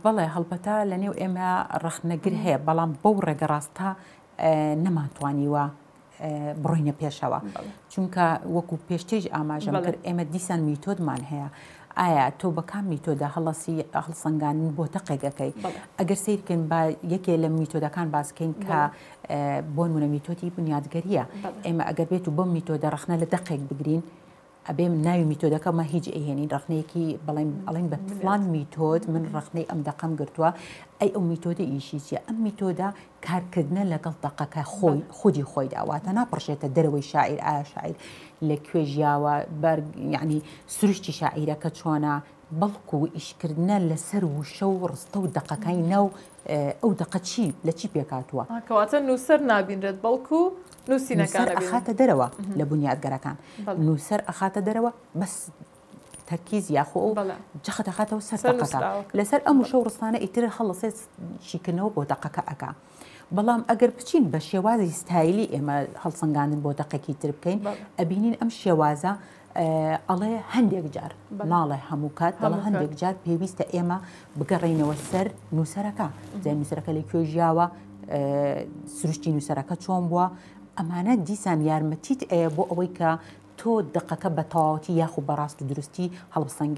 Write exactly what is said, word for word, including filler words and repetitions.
بەڵێ، هەڵبەتە لە نێو ئێمە ڕەخنەگر هەیە، بەڵام بەو ڕێگە ڕاستە نەمانتوانیوە بڕۆینە پێشەوە، چونکە وەکو پێشتریش ئاماژەم کرد ئێمە دیسان میتۆدمان هەیە. ئایا تۆ بە کام میتۆدا هەڵەسی هەڵسەنگاندن بۆ دەقێکەکەی؟ ئەگەر سەیر بکەین با یەکێ لە میتۆدەکان باس بکەین کە بۆ نمونە میتۆدی بنیادگەریە، ئێمە ئەگەر بێت و بەم میتۆدە ڕەخنە لە دەقێک بگرین، ئەبێ ناوی میتۆدەکەمە هیچ ئەهێنین، ڕەخنەیەکی بەڵێن ئەڵێن بە فلان میتۆد من ڕەخنەی ئەم دەقەم گرتووە، ئەی ئەو میتۆدە ئیشی چییە؟ ئەم میتۆدە کارکردنە لەگەڵ دەقەکە خۆی خودی خۆیدا، واتە ناپڕژێتە دەرەوەی شاعیر. ئایا شاعیر لە کوێ ژیاوە، بەر یعنی سروشتی شاعیرەکە چۆنە، بەڵکو ئیشکردنە لەسەر وشە و ڕستە و دەقەکانی ناو ئەو دەقە چی لە چی پێکاتووە. کەواتە نووسەر نابینرێت بەڵکو نووسینەکان ئەخاتە دەرەوە لە بنیادگەرەکان، نووسەر ئەخاتە دەرەوە بەس تەرکیز یاخۆ ئەو جەخت ئەخاتەوە سەر دەقەکە، لەسەر ئەم وشە و ڕستانە ئیتر هەڵەسێت شیکردنەوە بۆ دەقەکە ئەکا. بەڵام ئەگەر بچین بە شێوازی ستایلی ئێمە هەڵسەنگاندن بۆ دەقێکی تر بکەین، ئەبینین ئەم شێوازە ئەڵێ هەندێک جار، ناڵێ هەموو کات، بەڵام هەندێک جار پێویستە ئێمە بگەڕێینەوە سەر نووسەرەکە، جا نووسەرەکە لە کوێ ژیاوە، سروشتی نووسەرەکە چۆن بووە، ئەمانە دیسان یارمەتیت ئەیە بۆ ئەوەی کە تۆ دقەکە بە تەواوەتی یاخو بە ڕاست و دروستی هەڵبسەنگەی.